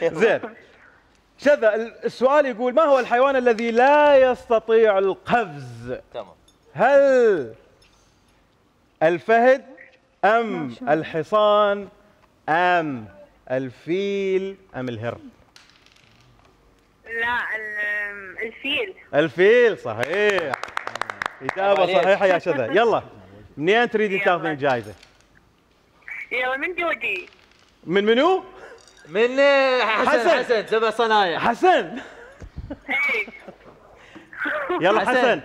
زين شذا، السؤال يقول ما هو الحيوان الذي لا يستطيع القفز؟ تمام. هل الفهد ام الحصان ام الفيل ام الهر؟ لا الفيل. الفيل صحيح، إجابة صحيحة يا شذا. يلا منين تريدين تاخذين الجائزة؟ يلا من جودي. من منو؟ من حسن 7 صنايع. حسن. يلا حسن.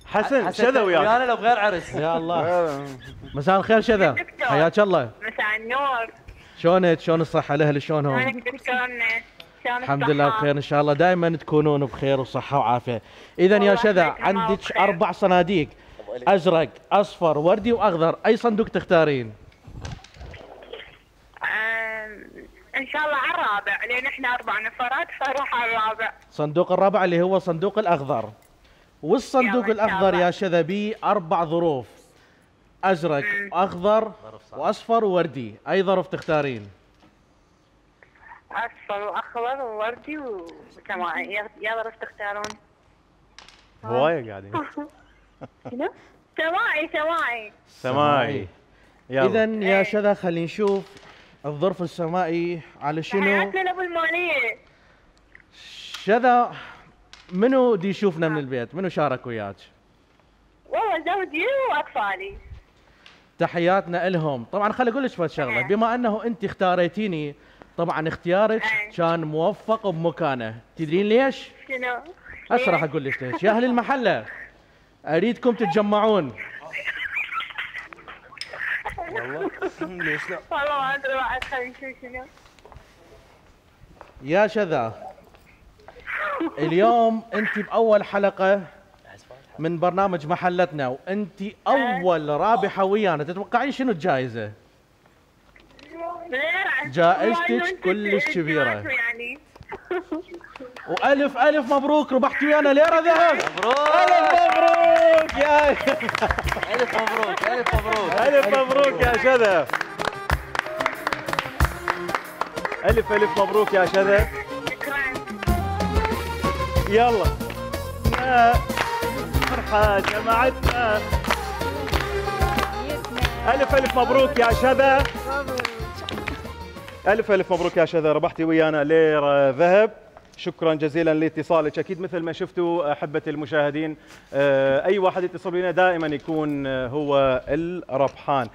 حسن شذا وياك. انا لو بغير عرس. يا الله. مساء الخير شذا، حياك الله. مساء النور. شلونك؟ شلون الصحة؟ الأهل شلونهم؟ شلونك دكتورنا؟ الحمد لله بخير ان شاء الله، دائما تكونون بخير وصحة وعافية. إذا يا شذا عندك 4 صناديق، أزرق، أصفر، وردي وأخضر، أي صندوق تختارين؟ ان شاء الله على الرابع، لان احنا 4 نفرات فاروح على الرابع. صندوق الرابع اللي هو صندوق الأخضر. والصندوق الأخضر يا شذا بيه 4 ظروف، أزرق وأخضر وأصفر ووردي، أي ظرف تختارين؟ اصفر واخضر ووردي وسماعي، يا ظرف تختارون؟ هواية قاعدين. شنو؟ سماعي. سماعي. إذا يا شذا خلينا نشوف الظرف السمائي على شنو. حياتنا لابو المالية. شذا منو دي يشوفنا من البيت؟ منو شارك وياك؟ والله زوجي واطفالي. تحياتنا لهم. طبعا خلي اقول لك شغله، بما انه انت اختاريتيني طبعا اختيارك كان موفق بمكانه، تدرين ليش؟ شنو؟ هسه راح اقول لك ليش. يا اهل المحله اريدكم تتجمعون. والله ليش لا؟ والله ما ادري بعد، خلينا نشوف شنو. يا شذا اليوم انت باول حلقه من برنامج محلتنا، وانت اول رابحه ويانا، تتوقعين شنو الجائزه؟ جائزتك كلش كبيره يعني. والف الف مبروك، ربحتي ويانا ليره ذهب. مبروك. الف مبروك يا الف مبروك. الف مبروك. الف مبروك يا شذا. الف مبروك يا شذا. شكرا. يلا يا فرحة جمعتنا. الف مبروك يا شذا. الف مبروك يا شذا، ربحتي ويانا ليرة ذهب. شكرا جزيلا لاتصالك. اكيد مثل ما شفتوا احبتي المشاهدين، اي واحد يتصل بنا دائما يكون هو الربحان.